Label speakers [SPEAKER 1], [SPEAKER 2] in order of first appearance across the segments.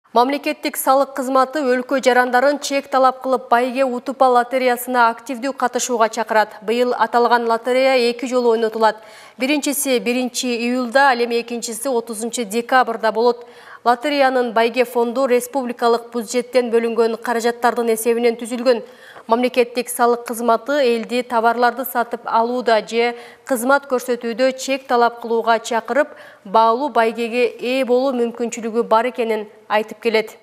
[SPEAKER 1] Мамлекеттик салык кызматы өлкө жарандарын чек талап кылып байге утуп ал лотереясына активдүү катышууга чакырат. Быйыл аталган лотерея 2 жолу ойнотулат. Биринчиси 1-июлда, ал эми экинчиси 30 декабрда болот. Лотереянын байге фонду республикалык бюджеттен бөлүнгөн каражаттардын эсебинен түзүлгөн. Мамлекеттик салык кызматы элди товарларды сатып алууда же кызмат көрсөтүүдө чек талап кылууга чакырып, баалуу байгеге ээ болуу мүмкүнчүлүгү бар экенин айтып келет.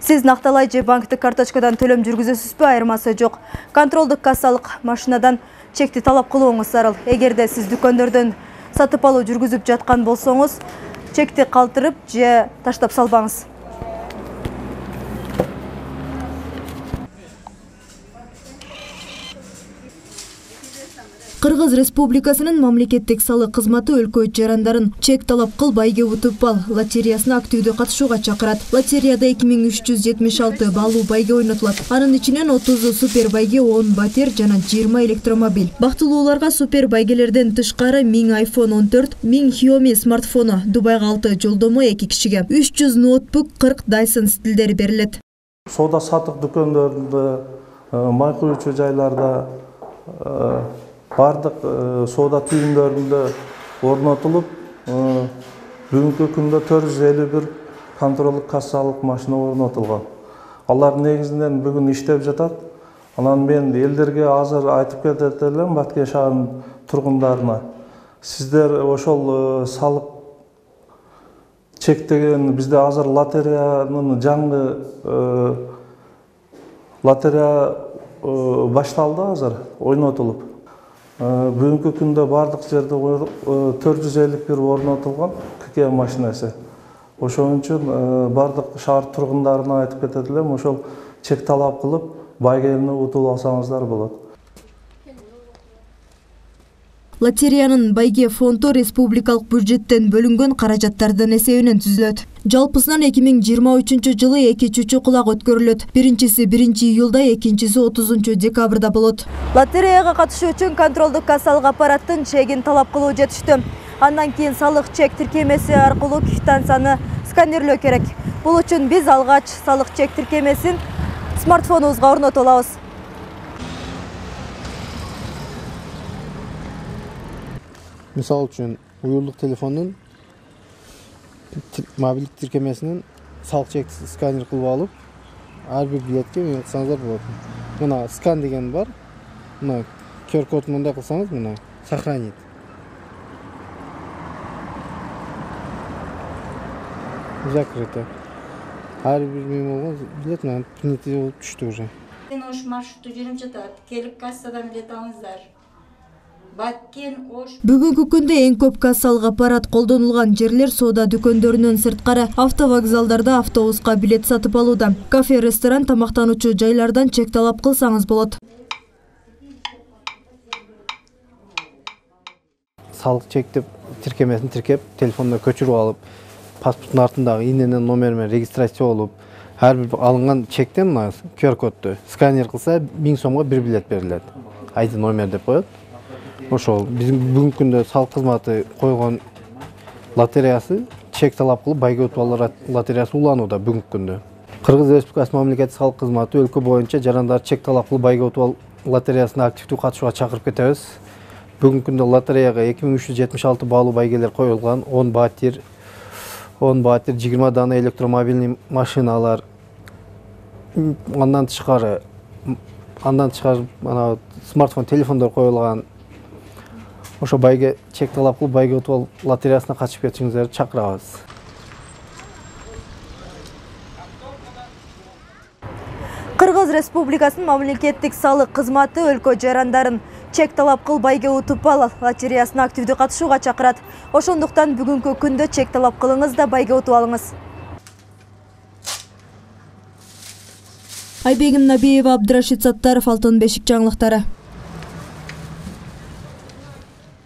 [SPEAKER 2] Сиз накталай же банктык карточкадан төлөм жүргүзөсүзбү? Айырмасы жок. Контролдук кассалык машинадан чекти талап кылууңуз зарыл. Эгерде сиз дүкөндөрдөн сатып алуу жүргүзүп жаткан болсоңуз, чекти калтырып же таштап салбаңыз. Кыргыз Республикасынын мамлекеттик салык кызматы өлкө жарандарын чек талап кыл байге утуп ал лотереясына активдүү катышууга чакырат. Лотереяда 2376 баалуу байге ойнотулат. Анын ичинен 30 супер байге, 10 батир жана 20 электромобиль. Бактылууларга супер байгелерден тышкары 1000 iPhone 14, 1000 Xiaomi смартфону, Дубайга 6 жолдомо 2 кишиге, 300 ноутбук, 40 Dyson стилдери берилет.
[SPEAKER 3] Соода саттык дүкөндөрдө, май куючу жайларда, бардык соода түйүндөрүндө орнотулуп, бүгүнкү күндө 451 контролдук кассалык машина орнотулган. Алар негизинен бүгүн иштеп жатат. Анан мен элдерге азыр айтып кетет элем, Баткен шаарынын тургундарына. Сиздер ошол салык чектеген бизде азыр лотереянын жаңы лотерея башталды азыр ойнотулуп. Бүгүнкү күндө бардык жерде 451 орнотулган КК машинасы. Ошон үчүн бардык шаар тургундарына айтып кетет элем, ошол чек талап кылып, байгени утуп алсаңыздар болот.
[SPEAKER 2] Лотереянын байге фонду республикалык бюджеттен бөлүнгөн каражаттардын эсебинен түзүлөт. Жалпысынан 2023 жылы 2 чүчү кулак өткөрүлөт. Биринчиси 1-июлда, экинчиси 30 декабрда болот. Лотереяга катышуу үчүн контролдук кассалык аппараттын чегин талап кылуу жетиштүү. Андан кийин салык чек тиркемеси аркылуу квитанцияны сканерлөө керек. Бул үчүн биз алгач салык чек тиркемесин смартфонубузга орнотуп алабыз.
[SPEAKER 4] Мисал үчүн, уюлдук телефондун мобилдик тиркемесинен салык чекти сканер кылып алып, ар бир билетке мен кылсаңыздар болот. Мына скан деген бар. Мына QR код мындай кылсаңыз, мына сохранить. Закрыто. Ар бир мен болгон билет менен принятие болуп түштү уже.
[SPEAKER 5] Мен ош маршруту жүрүп жатат. Келип кассадан билет алыңыздар.
[SPEAKER 2] Бүгүнкү күндө эң көп кассалык аппарат колдонулган жерлер соода дүкөндөрүнөн сырткары автовокзалдарда автобуска билет сатып алууда. Кафе, ресторан, тамактануучу жайлардан чек талап кылсаңыз болот.
[SPEAKER 4] Салык чектеп тиркемесин тиркеп, телефондо көчүрүп алып, паспорттун артындагы иненин номери менен регистрация болуп, ар бир алынган чектен QR кодду сканер кылса 1000 сомго бир билет берилет. ID номер деп коет. Ошол биздин бүгүнкү күндө салык кызматы койгон лотереясы чек талап кылып байге утуп алуу лотереясы уланууда бүгүнкү күндө. Кыргыз Республикасы мамлекеттик салык кызматы өлкө боюнча жарандар чек талап кылып байге утуп алуу лотереясына активдүү катышууга чакырып кетебиз. Бүгүнкү күндө лотереяга 2376 баалуу байгелер коюлган, 10 батир, 20 дана электромобильный машиналар. Андан тышкары смартфон телефондор коюлган. Ошо байге чек талап кылып, байге утуп алып лотереясына катышып кетишиңиздерди чакырабыз.
[SPEAKER 2] Кыргыз Республикасынын мамлекеттик салык кызматы өлкө жарандарын чек талап кыл байге утуп ал лотереясына активдүү катышууга чакырат. Ошондуктан бүгүнкү күндө чек талап кылыңыз да байге утуп алыңыз. Айбегим Набиева, Абдрашид Саттаров, Алтын бешик жаңылыктары.